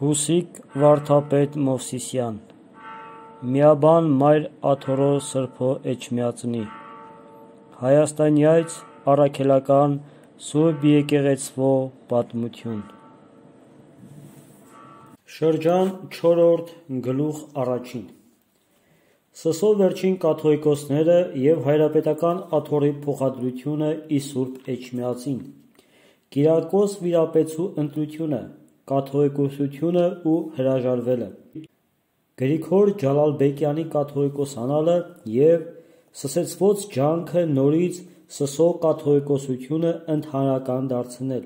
Հուսիկ Վարդապետ Մովսիսյան Միաբան մայր աթորո սրբո էջմիածնի Հայաստանյայց առաքելական Սուրբ եկեղեցվո պատմություն Շրջան 4-րդ գլուխ առաջին Սսո վերջին կաթողիկոսները և հայրապետական աթոռի փոխադրությունը ի Սուրբ էջմիածին Կիրակոս վիրապետցու ընտրությունը Կաթողիկոսությունը ու հրաժարվելը Գրիգոր Ջալալբեկյանի կաթողիկոսանալը և սկսեցված ջանքը նորից Սսո կաթողիկոսությունը ընդհանրական դարձնել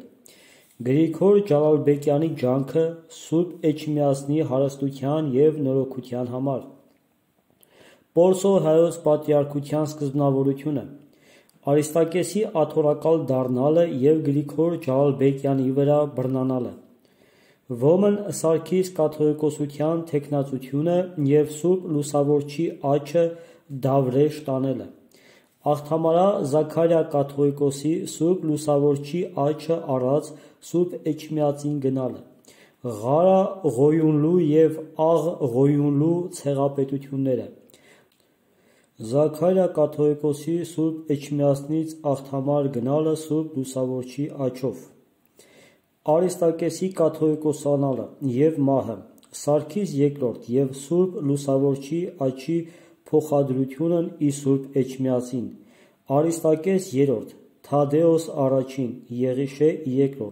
Գրիգոր Ջալալբեկյանի ջանքը Սուրբ Էջմիածնի հարստության և նորոգության համար Պորսո հայոց պատրիարքության սկզբնավորությունը Արիստակեսի աթոռակալ դառնալը և Գրիգոր Ջալալբեկյանի վրա բռնանալը Ոմն Սարգիս կաթողիկոսության թեկնածությունը և Սուրբ Լուսավորչի աջը Դավրեշ տանելը Աղթամարա Զաքարիա կաթողիկոսի Սուրբ Լուսավորչի աջը առած Սուրբ Էջմիածին գնալը Ղարա Ղոյունլու և Աղ Ղոյունլու ցեղապետությունները Զաքարիա կաթողիկոսի Սուրբ Էջմիածնից աղթամար գնալը Սուրբ Լուսավորչի աջով Արիստակեսի կաթողիկոսանալը և մահը Սարգիս II և Սուրբ Լուսավորչի աջի փոխադրությունն ի Սուրբ Էջմիածին Արիստակես III Թադեոս I Եղիշե II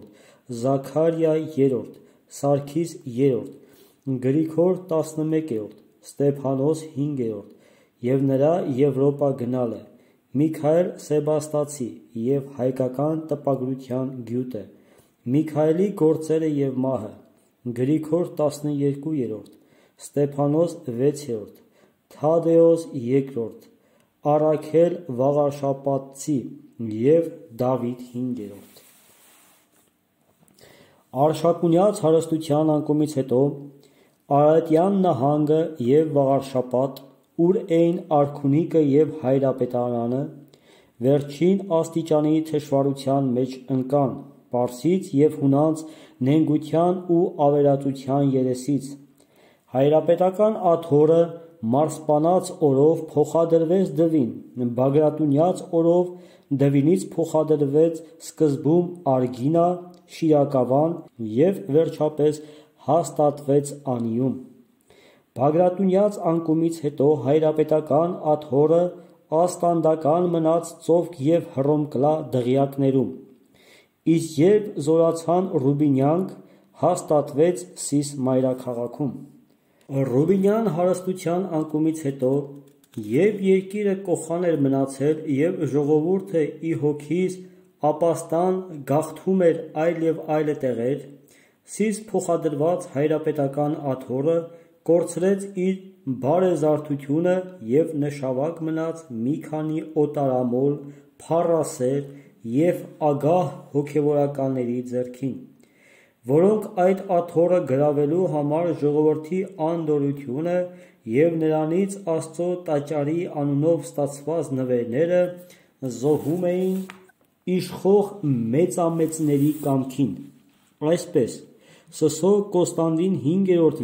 Զաքարիա III Սարգիս III Գրիգոր XI Ստեփանոս V և նրա Եվրոպա գնալը Միքայել Սեբաստացի և հայկական տպագրության գյուտը Միքայելի գործերը և մահը Գրիգոր XII Ստեփանոս VI Թադեոս II Առաքել Վաղարշապատցի և Դավիթ V Արշակունյաց հարստության անկումից հետո Արարատյան նահանգը և Վաղարշապատ ուր էին արքունիքը և հայրապետարանը վերջին աստիճանի թշվառության մեջ ընկան Պարսից և հունանց նենգության ու ավերածության երեսից Հայրապետական աթոռը մարսպանած օրով փոխադրվեց դվին Բագրատունյաց օրով դվինից փոխադրվեց սկզբում արգինա, շիրակավան և վերջապես հաստատվեց անիում Բագրատունյաց անկումից հետո հայրապետական աթոռը աստանդական մնաց ծովք և Հռոմկլա դղյակներում Իսկ երբ զորացան Ռուբինյանք հաստատվեց Սիս մայրաքաղաքում Ռուբինյան հարստության անկումից հետո երբ երկիրը կոխան էր մնացել և ժողովուրդը ի հոգիս ապաստան գաղթում էր այլ և այլ տեղեր Սիս փոխադրված հայրապետական աթոռը կորցրեց իր բարեզարդությունը և նշավակ մնաց մի քանի օտարամոլ, փառասեր և ագահ հոգևորականների ձեռքին, որոնք այդ աթոռը գրավելու համար ժողովրդի անդորրությունը և նրանից Աստծո տաճարի անունով ստացված նվերները զոհում էին իշխող մեծամեծների կամքին: Այսպես, Սսո Կոստանդին V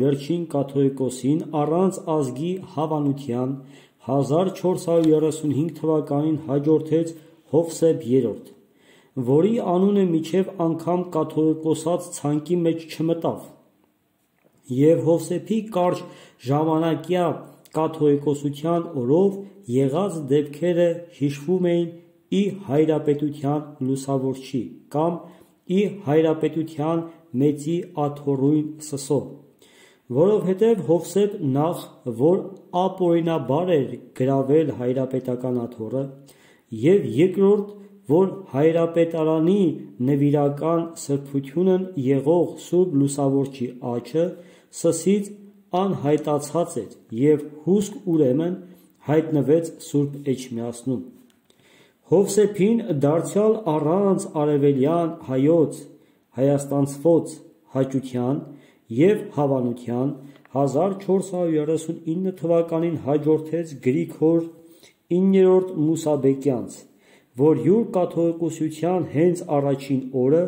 վերջին կաթողիկոսին առանց ազգի հավանության 1435 թվականին հաջորդեց Հովսեփ III, որի անունը մինչև անգամ կաթողիկոսաց ցանկի մեջ չմտավ, և Հովսեփի կարճ ժամանակյա կաթողիկոսության օրով եղած դեպքերը հիշվում էին ի հայրապետության լուսավորչի կամ ի հայրապետության մեծի աթոռույն Սսո, որովհետև Հովսեփ նախ, որ ապօրինաբար էր գրավել հայրապետական աթոռը և երկրորդ, որ հայրապետարանի նվիրական սրբությունն եղող Սուրբ Լուսավորչի աջը Սսից անհայտացած էր և հուսք ուրեմն հայտնվեց Սուրբ Էջմիածնում Հովսեփին դարձյալ առանց արևելյան հայոց հայաստանցվոց հաճության և հավանության 1439 թվականին հաջորդեց Գրիգոր IX Մուսաբեկյանց, որ յուր կաթողիկոսության հենց առաջին օրը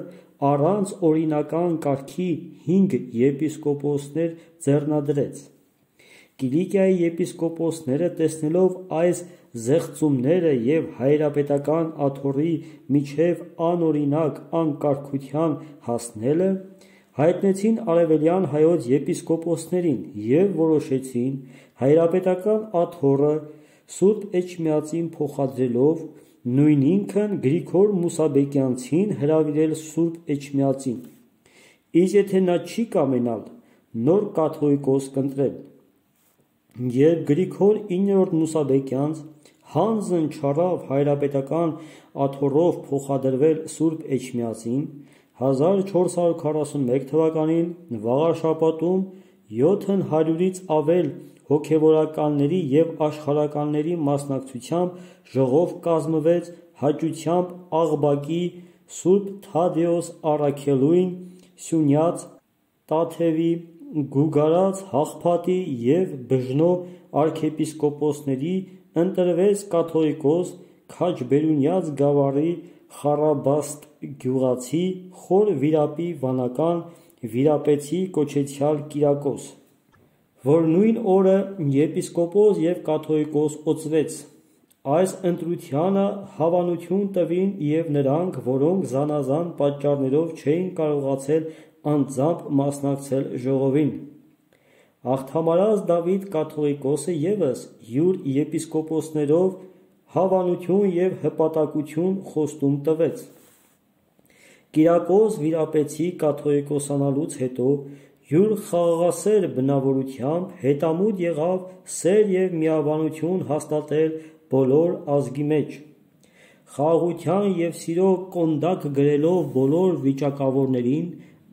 առանց օրինական կարգի 5 եպիսկոպոսներ ձեռնադրեց։ Կիլիկիայի եպիսկոպոսները տեսնելով այս զեղծումները և հայրապետական աթոռի միջև անօրինակ անկարգության հասնելը, հայտնեցին արևելյան հայոց եպիսկոպոսներին և որոշեցին հայրապետական աթոռը Սուրբ Էջմիածին փոխադրելով նույն ինքն Գրիգոր Մուսաբեկյանցին հրավիրել Սուրբ Էջմիածին, իսկ եթե նա չի կամենալ, նոր կաթողիկոս կընտրել։ Երբ Գրիգոր 9-րդ Մուսաբեկյանց հանձն չառավ հայրապետական աթոռով փոխադրվել Սուրբ Էջմիածին, 1441 թվականին Վաղարշաբաթում 700-ից ավել հոգևորականների և աշխարհականների մասնակցությամբ ժողով կազմվեց հաճությամբ Աղբակի Սուրբ Թադեոս առաքելուին, Սյունյաց, Տաթևի, Գուգարաց, Հաղփատի և Բժնո արքեպիսկոպոսների ընտրվեց կաթողիկոս Քաջբերունյաց գավառի Խառաբաստ գյուղացի Խոր Վիրապի վանական վիրապետի կոչեցյալ Կիրակոս, որ նույն օրը եպիսկոպոս և կաթողիկոս օծվեց։ Այս ընտրությանը հավանություն տվին և նրանք, որոնք զանազան պատճառներով չէին կարողացել անձամբ մասնակցել ժողովին։ Աղթամարած Դավիթ կաթողիկոսը ևս յուր եպիսկոպոսներով հավանություն և հպատակություն խոստում տվեց։ Կիրակոս վիրապետի կաթողիկոսանալուց հետո յուր խաղաղասեր բնավորությամբ հետամուտ եղավ սեր և միաբանություն հաստատել բոլոր ազգի մեջ, խաղաղության և սիրո կոնդակ գրելով բոլոր վիճակավորներին,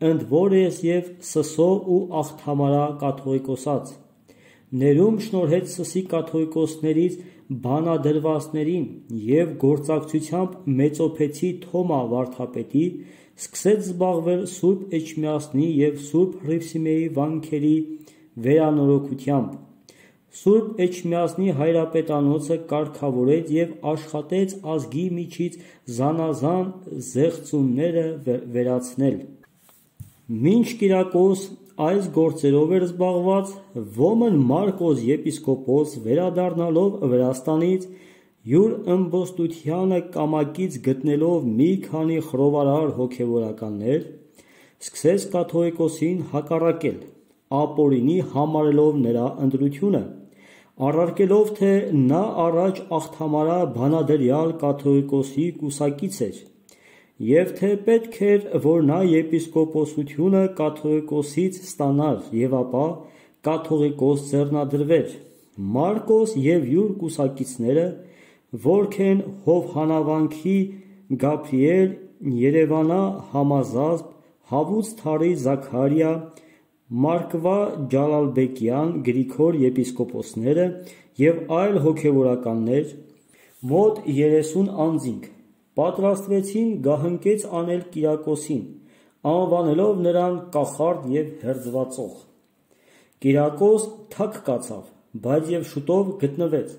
ընդ որս և Սսո ու Աղթամարա կաթողիկոսաց, ներում շնորհեց Սսի կաթողիկոսներից բանադրվածներին և գործակցությամբ մեծոփեցի Թոմա վարդապետի, սկսեց զբաղվել Սուրբ Էջմիածնի և Սուրբ Հռիփսիմեի վանքերի վերանորոգությամբ, Սուրբ Էջմիածնի հայրապետանոցը կարգավորեց և աշխատեց ազգի միջից զանազան զեղծումները վերացնել։ Մինչ Կիրակոս այս գործերով էր զբաղված, Ոմն Մարկոս եպիսկոպոս վերադառնալով Վրաստանից, յուր ըմբոստությանը կամակից գտնելով մի քանի խռովարար հոգևորականներ, սկսեց կաթողիկոսին հակառակել, ապօրինի համարելով նրա ընտրությունը, առարկելով, թե նա առաջ Աղթամարա բանադրյալ կաթողիկոսի կուսակից էր, և թե պետք էր, որ նա եպիսկոպոսությունը կաթողիկոսից ստանար և ապա կաթողիկոս ձեռնադրվեր։ Մարկոս և յուր կուսակիցները, որք են Հովհաննավանքի Գաբրիել, Երևանա Համազազբ, Հավուց Թարի Զաքարիա, Մարկվա Ջալալբեկյան Գրիգոր եպիսկոպոսները և այլ հոգևորականներ, մոտ 30 անձինք, պատրաստվեցին գահընկեց անել Կիրակոսին, անվանելով նրան կախարդ և հերձվածող։ Կիրակոս թք կացավ, բայց և շուտով գտնվեց։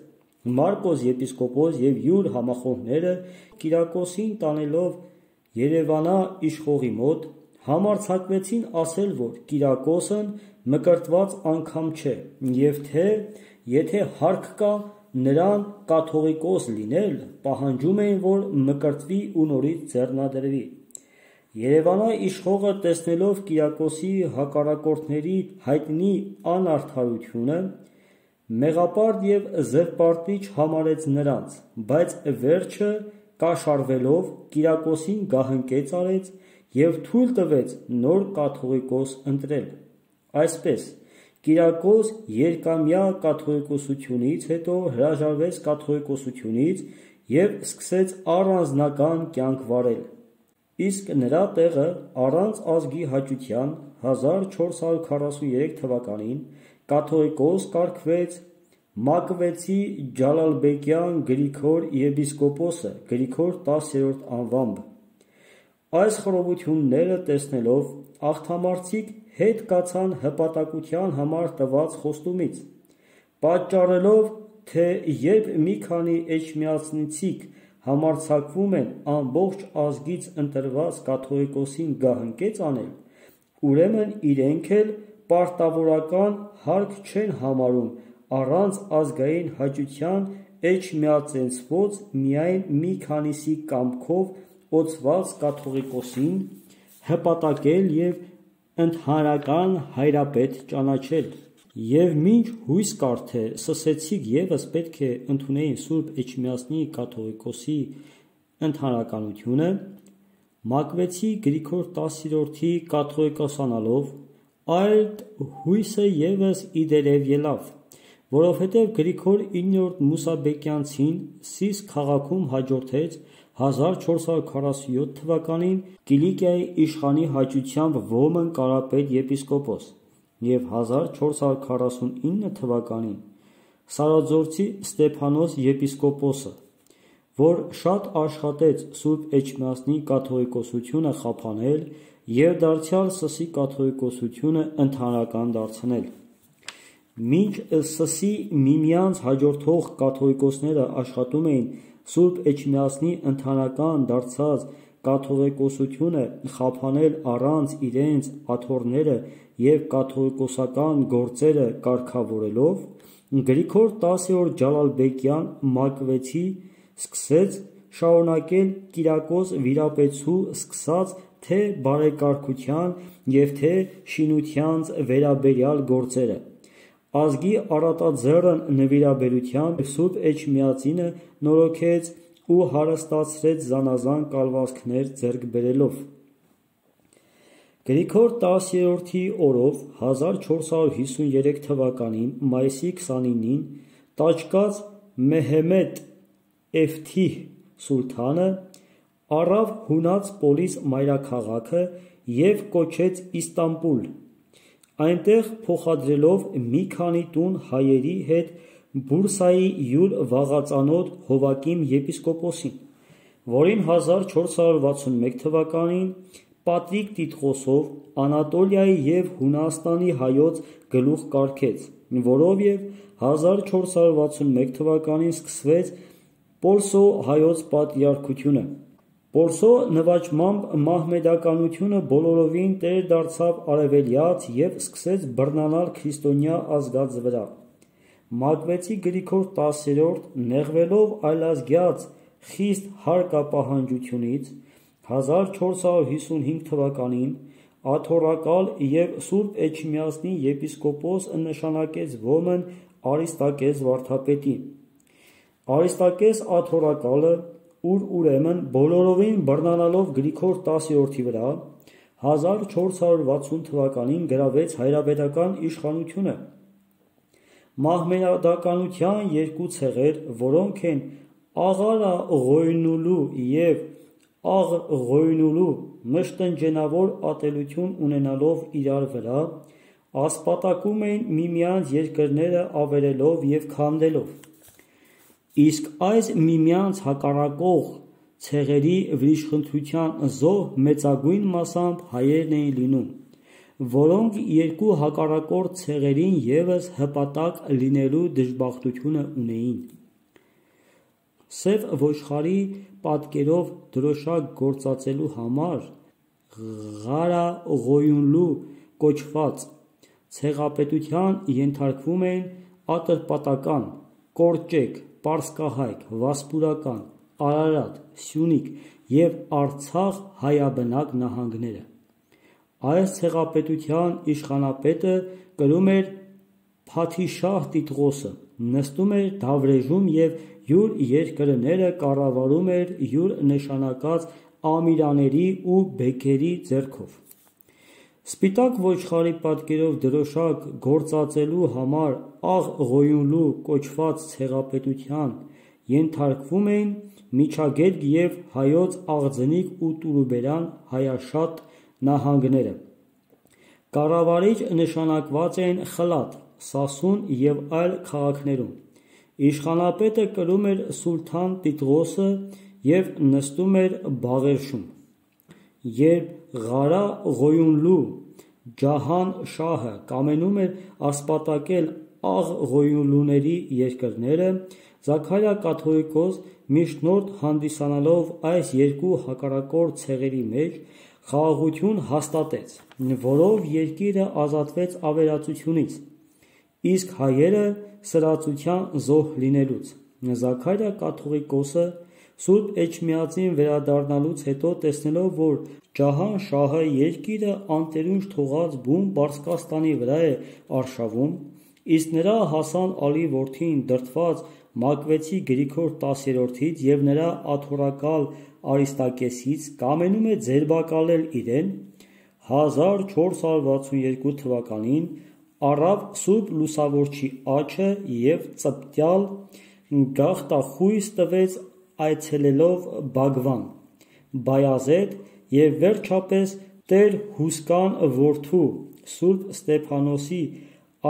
Մարկոս եպիսկոպոս և յուր համախոհները Կիրակոսին տանելով Երևանա իշխողի մոտ, համարձակվեցին ասել, որ Կիրակոսն մկրտված անգամ չէ, և թե եթե հարկ կա նրան կաթողիկոս լինել, պահանջում էին, որ մկրտվի ու նորից ձեռնադրվի։ Երևանա իշխողը տեսնելով Կիրակոսի հակառակորդների հայտնի անարդարությունը, մեղապարտ և զրպարտիչ համարեց նրանց, բայց վերջը կաշառվելով Կիրակոսին գահընկեց արեց և թույլ տվեց նոր կաթողիկոս ընտրել։ Այսպես Կիրակոս երկամյա կաթողիկոսությունից հետո հրաժարվեց կաթողիկոսությունից և սկսեց առանձնական կյանք վարել, իսկ նրա տեղը առանց ազգի հաճության 1443 թվականին կաթողիկոս կարգվեց Մակվեցի Ջալալբեկյան Գրիգոր եպիսկոպոսը Գրիգոր 10-րդ անվամբ։ Այս խռովությունները տեսնելով աղթամարցիկ հետ կացան հպատակության համար տված խոստումից, պատճառելով, թե երբ մի քանի էջմիածնցիք համարձակվում են ամբողջ ազգից ընտրված կաթողիկոսին գահընկեց անել, ուրեմն իրենք էլ պարտավորական հարկ չեն համարում առանց ազգային հաճության էջմիածենցված միայն մի քանիսի կամքով օծված կաթողիկոսին հպատակել և ընդհանրական հայրապետ ճանաչել։ Եվ մինչ հույս կար, թե սսեցիք ևս պետք է ընդունեին Սուրբ Էջմիածնի կաթողիկոսի ընդհանրականությունը, Մակվեցի Գրիգոր 10-րդի կաթողիկոսանալով այդ հույսը ևս իդերև ելավ, որովհետև Գրիգոր 9-րդ Մուսաբեկյանցին Սիս քաղաքում հաջորդեց 1447 թվականին Կիլիկիայի իշխանի հաճությամբ Ոմն կարապետ եպիսկոպոս և 1449 թվականին Սարաձորցի Ստեփանոս եպիսկոպոսը, որ շատ աշխատեց Սուրբ Էջմիածնի կաթողիկոսությունը խափանել և դարձյալ Սսի կաթողիկոսությունը ընդհանրական դարձնել։ Մինչ Սսի միմյանց հաջորդող կաթողիկոսները աշխատում էին Սուրբ Էջմիածնի ընդհանրական դարձած կաթողիկոսությունը խափանել առանց իրենց աթոռները և կաթողիկոսական գործերը կարգավորելով, Գրիգոր 10-րդ Ջալալբեկյան Մակվեցի սկսեց շարունակել Կիրակոս Վիրապետցու սկսած թե բարեկարգության և թե շինության վերաբերյալ գործերը, ազգի առատաձեռն նվիրաբերությամբ Սուրբ Էջմիածինը նորոգեց ու հարստացրեց զանազան կալվածքներ ձեռք բերելով։ Գրիգոր 10-րդի օրով 1453 թվականին մայիսի 29-ին տաճկաց Մեհեմեդ Էֆթիհ սուլթանը առավ հունած Պոլիս մայրաքաղաքը և կոչեց Իստանբուլ, այնտեղ փոխադրելով մի քանի տուն հայերի հետ Բուրսայի յուր վաղածանոթ Հովակիմ եպիսկոպոսին, որին 1461 թվականին Պատրիկ Տիտղոսով Անատոլիայի և Հունաստանի հայոց գլուխ կարգեց, որով և 1461 թվականին սկսվեց Պորսո հայոց պատրիարքությունը։ Պորսո նվաճմամբ մահմեդականությունը բոլորովին տեր դարձավ արևելյաց և սկսեց բռնանալ քրիստոնյա ազգաց վրա։ Մակվեցի Գրիգոր 10-րդ նեղվելով այլազգյաց խիստ հարկապահանջությունից 1455 թվականին աթոռակալ և Սուրբ Էջմիածնի եպիսկոպոս նշանակեց Ոմն Արիստակես վարդապետին։ Արիստակես աթոռակալը, ուր ուրեմն բոլորովին բռնանալով Գրիգոր 10-րդի վրա, 1460 թվականին գրավեց հայրապետական իշխանությունը։ Մահմեդականության երկու ցեղեր, որոնք են Աղալա Ղոյնուլու և Աղ Ղոյնուլու, մշտնջենավոր ատելություն ունենալով իրար վրա, ասպատակում էին միմյանց երկրները ավերելով և քանդելով։ Իսկ այս միմյանց հակառակող ցեղերի վրիժխնդրության զոհ մեծագույն մասամբ հայերն էին լինում, որոնք երկու հակառակորդ ցեղերին ևս հպատակ լինելու դժբախտությունը ունեին։ Սև ոչխարի պատկերով դրոշակ գործածելու համար Ղարա Ղոյունլու կոչված ցեղապետության ենթարկվում էին Ատրպատական, Կորճեկ, Պարսկահայք, Վասպուրական, Արարատ, Սյունիք և Արցախ հայաբնակ նահանգները։ Այս ցեղապետության իշխանապետը կրում էր Փաթիշահ Տիտղոսը, նստում էր Դավրեժում և յուր երկրները կառավարում էր յուր նշանակած ամիրաների ու բեքերի ձեռքով։ Սպիտակ ոչխարի պատկերով դրոշակ գործածելու համար Աղ Ղոյունլու կոչված ցեղապետության ենթարկվում էին Միջագետք և Հայոց Աղձնիկ ու Տուրուբերան հայաշատ նահանգները։ Կառավարիչ նշանակված էին Խլատ, Սասուն և այլ քաղաքներում։ Իշխանապետը կրում էր Սուլթան Տիտղոսը և նստում էր Բաղերշում։ Երբ Ղարա Ղոյունլու Ջահան շահը կամենում էր ասպատակել Աղ Ղոյունլուների երկրները, Զաքարիա կաթողիկոս միջնորդ հանդիսանալով այս երկու հակառակորդ ցեղերի մեջ խաղաղություն հաստատեց, որով երկիրը ազատվեց ավերածությունից, իսկ հայերը սրածության զոհ լինելուց։ Զաքարիա կաթողիկոսը Սուրբ Էջմիածին վերադառնալուց հետո, տեսնելով, որ Ջահան շահը երկիրը անտերունջ թողած բուն Պարսկաստանի վրա է արշավում, իսկ նրա Հասան Ալի որդին դրդված Մակվեցի Գրիգոր 10-ից և նրա աթոռակալ Արիստակեսից կամենում է ձերբակալել իրեն, 1462 թվականին առավ Սուրբ Լուսավորչի աջը և ծպտյալ գաղտախույս տվեց այցելելով Բագվան, Բայազեդ և վերջապես Տեր Հուսկան որդու Սուրբ Ստեփանոսի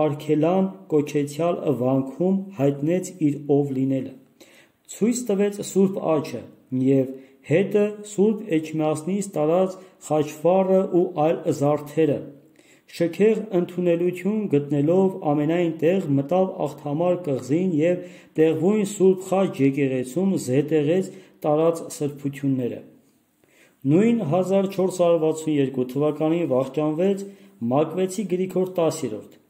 Արգելան կոչեցյալ վանքում հայտնեց իր ով լինելը, ցույց տվեց Սուրբ աջը և հետը Սուրբ Էջմիածնից տարած խաչվառը ու այլ զարդերը, շքեղ ընդունելություն գտնելով ամենայն տեղ մտավ Աղթամար կղզին և տեղվույն Սուրբ խաչ եկեղեցում զետեղեց տարած սրբությունները։ Նույն 1462 թվականին վախճանվեց Մակվեցի Գրիգոր 10-րդ։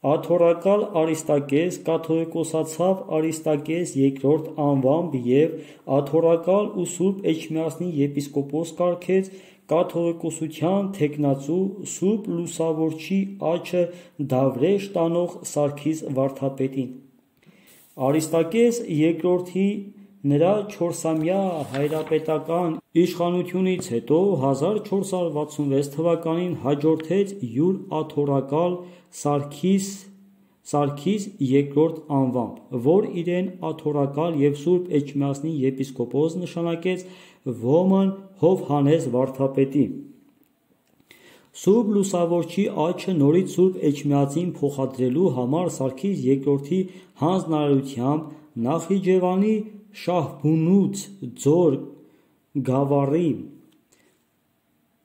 Աթոռակալ Արիստակես կաթողիկոսացավ Արիստակես II անվամբ և աթոռակալ ու Սուրբ Էջմիածնի եպիսկոպոս կարգեց կաթողիկոսության թեկնածու Սուրբ Լուսավորչի աջը Դավրեշ տանող Սարգիս վարդապետին։ Արիստակես II-ի նրա 4-ամյա հայրապետական իշխանությունից հետո 1466 թվականին հաջորդեց յուր աթոռակալ Սարգիս II անվամբ, որ իրեն աթոռակալ և Սուրբ Էջմիածնի եպիսկոպոս նշանակեց Ոմն Հովհաննես վարդապետի։ Սուրբ Լուսավորչի աջը նորից Սուրբ Էջմիածին փոխադրելու համար Սարգիս II-ի հանձնարարությամբ Նախիջևանի Շահբունուց ձոր գավառի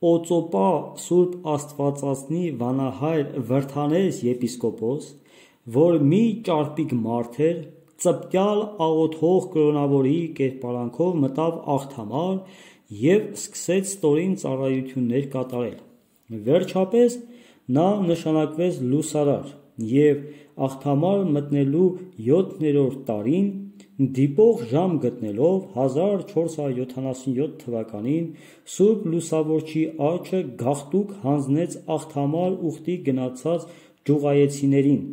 Օծոպա Սուրբ Աստվածածնի վանահայր Վրդանես եպիսկոպոս, որ մի ճարպիկ մարդ էր, ծպտյալ աղոթող կրոնավորի կերպարանքով մտավ Աղթամար և սկսեց ստորին ծառայություններ կատարել։ Վերջապես նա նշանակվեց լուսարար և Աղթամար մտնելու 7-րդ տարին դիպող ժամ գտնելով 1477 թվականին Սուրբ Լուսավորչի աջը գաղտուկ հանձնեց Աղթամար ուխտի գնացած ջուղայեցիներին,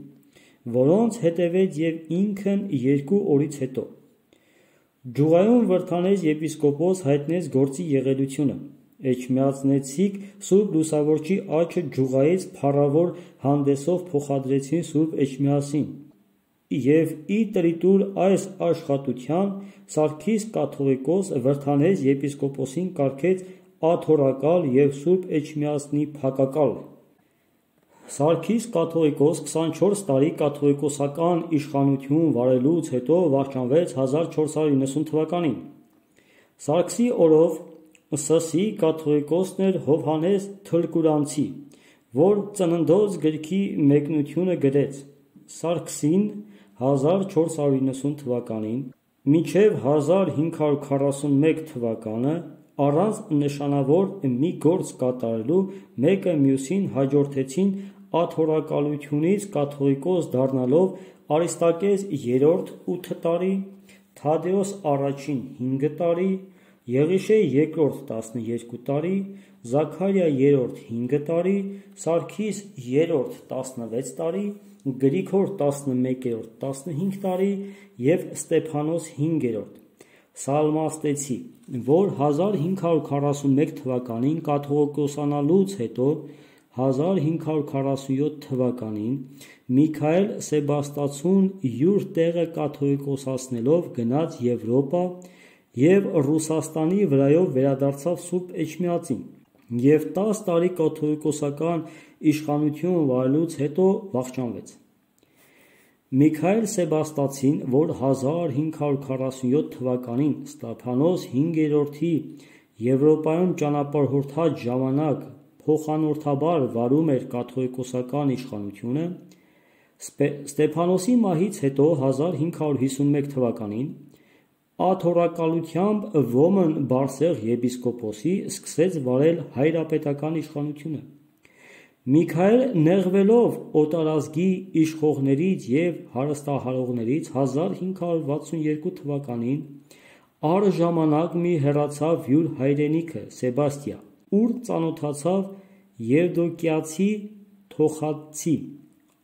որոնց հետևեց և ինքն 2 օրից հետո։ Ջուղայում Վրդանես եպիսկոպոս հայտնեց գործի եղելությունը։ Էջմիածնեցիք Սուրբ Լուսավորչի աջը ջուղայից փառավոր հանդեսով փոխադրեցին Սուրբ Էջմիածին և ի տրիտուր այս աշխատության Սարգիս կաթողիկոս Վրդանես եպիսկոպոսին կարգեց աթոռակալ և Սուրբ Էջմիածնի փակակալ։ Սարգիս կաթողիկոս 24 տարի կաթողիկոսական իշխանություն վարելուց հետո վախճանվեց 1490 թվականին։ Սարգսի օրով Սսի կաթողիկոսն էր Հովհաննես Թլկուրանցի, որ Ծննդոց գրքի մեկնությունը գրեց։ Սարգսին 1490 թվականին մինչև 1541 թվականը առանց նշանավոր մի գործ կատարելու մեկը մյուսին հաջորդեցին աթոռակալությունից կաթողիկոս դառնալով Արիստակես III 8 տարի, Թադեոս I 5 տարի, Եղիշե II 12 տարի, Զաքարիա III 5 տարի, Սարգիս III 16 տարի, Գրիգոր 11-րդ 15 տարի և Ստեփանոս 5-րդ Սալմաստեցի, որ 1541 թվականին կաթողիկոսանալուց հետո 1547 թվականին Միքայել Սեբաստացուն յուր տեղը կաթողիկոսացնելով գնաց Եվրոպա և Ռուսաստանի վրայով վերադարձավ Սուրբ Էջմիածին և 10 տարի կաթողիկոսական իշխանություն վարելուց հետո վախճանվեց։ Միքայել Սեբաստացին, որ 1547 թվականին Ստեփանոս 5-րդի Եվրոպայում ճանապարհորդած ժամանակ փոխանորդաբար վարում էր կաթողիկոսական իշխանությունը, Ստեփանոսի մահից հետո 1551 թվականին աթոռակալությամբ Ոմն Բարսեղ եպիսկոպոսի սկսեց վարել հայրապետական իշխանությունը։ Միքայել նեղվելով օտարազգի իշխողներից և հարստահարողներից 1562 թվականին առժամանակ մի հեռացավ յուր հայրենիքը Սեբաստիա, ուր ծանոթացավ եվդոկիացի թոխածի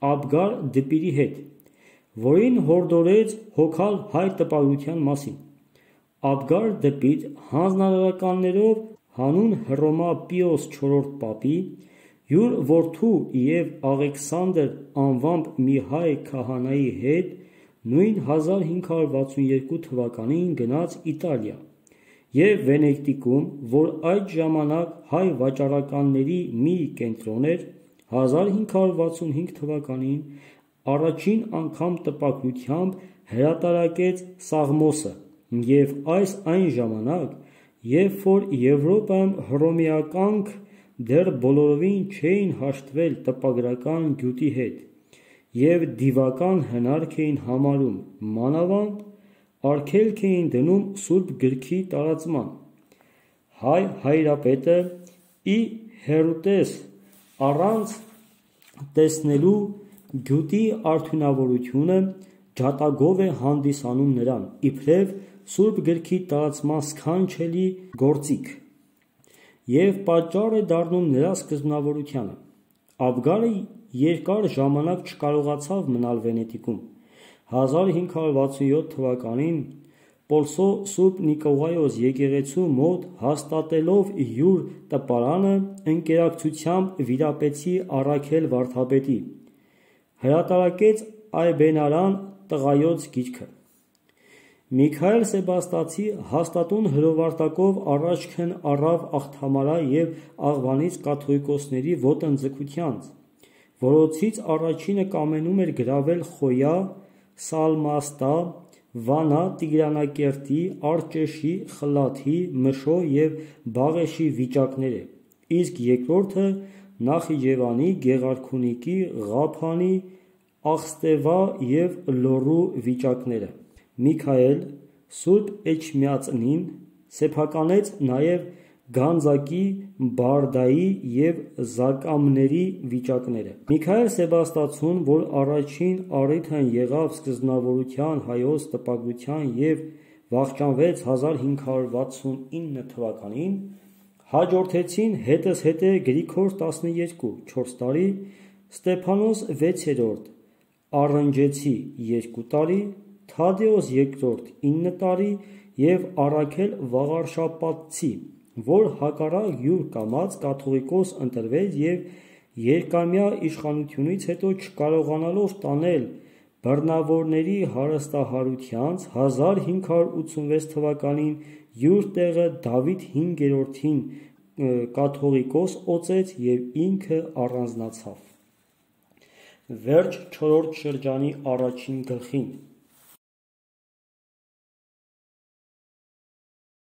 Աբգար դպիրի հետ, որին հորդորեց հոգալ հայր տպագրության մասին։ Աբգար դպիտ հանձնարարականներով հանուն Հռոմա Պիոս IV պապի յուր որդու և Աղեքսանդր անվամբ մի հայ քահանայի հետ նույն 1562 թվականին գնաց Իտալիա և Վենետիկում, որ այդ ժամանակ հայ վաճառականների մի կենտրոն էր, 1565 թվականին առաջին անգամ տպագրությամբ հրատարակեց Սաղմոսը և այս այն ժամանակ, երբ որ Եվրոպայում հռոմեականք դեռ բոլորովին չէին հաշտվել տպագրական գյուտի հետ և դիվական հնարք էին համարում, մանավանդ արգելք էին դնում Սուրբ Գրքի տարածման։ Հայ հայրապետը ի հեռուտես առանց տեսնելու գյուտի արդյունավորությունը ջատագով է հանդիսանում նրան, իբրև Սուրբ Գրքի տարածման սքանչելի գործիք և պատճառ է դառնում նրա սկզբնավորությանը։ Աբգարը երկար ժամանակ չկարողացավ մնալ Վենետիկում։ 1567 թվականին Պոլսո Սուրբ Նիկողայոս եկեղեցու մոտ հաստատելով յուր տպարանը ընկերակցությամբ վիրապետի Առաքել վարդապետի, հրատարակեց Այբենարան տղայոց գիրքը։ Միքայել Սեբաստացի հաստատուն հրովարտակով առաջքն առավ Աղթամարա և Աղվանից կաթողիկոսների ոտնձգությանց, որոնցից առաջինը կամենում էր գրավել Խոյա, Սալմաստա, Վանա, Տիգրանակերտի, Արջեշի, Խլաթի, Մշո և Բաղեշի վիճակները, իսկ երկրորդը Նախիջևանի, Գեղարքունիքի, Ղափանի, Աղստևա և Լոռու վիճակները։ Միքայել Սուրբ Էջմիածնին սեփականեց նաև Գանձակի, Բարդայի և Զակամների վիճակները։ Միքայել Սեբաստացուն, որ առաջին առիթն եղավ սկզբնավորության հայոց տպագրության և վախճանվեց 1569 թվականին, հաջորդեցին հետզհետե Գրիգոր 12 4 տարի, Ստեփանոս 6-րդ Առնջեցի 2 տարի, Թադեոս II 9 տարի և Առաքել Վաղարշապատցի, որ հակառակ յուր կամած կաթողիկոս ընտրվեց և երկամյա իշխանությունից հետո չկարողանալով տանել բռնավորների հարստահարությանց 1586 թվականին յուր տեղը Դավիթ 5-րդին կաթողիկոս օծեց և ինքը առանձնացավ։ Վերջ չորրորդ շրջանի առաջին գլխին